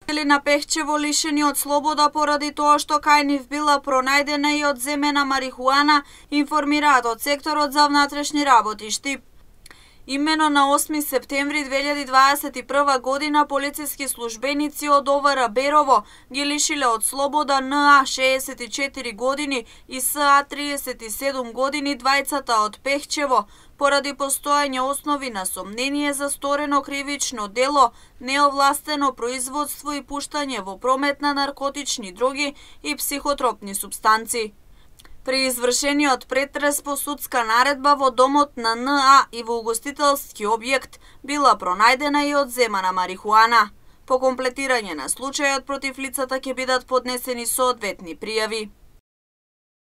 На Пехчево лишени од слобода поради тоа што кај нив била пронајдена и одземена марихуана, информираат од секторот за внатрешни работи Штип. Имено на 8 септември 2021 година полициски службеници од ОВР Берово ги лишиле од слобода НА 64 години и СА 37 години, двајцата од Пехчево, поради постоење основи на сомнение за сторено кривично дело, неовластено производство и пуштање во промет на наркотични дроги и психотропни супстанци. При извршениот претрес по судска наредба во домот на НА и во угостителски објект била пронајдена и одземана марихуана. По комплетирање на случајот против лицата ќе бидат поднесени соодветни пријави.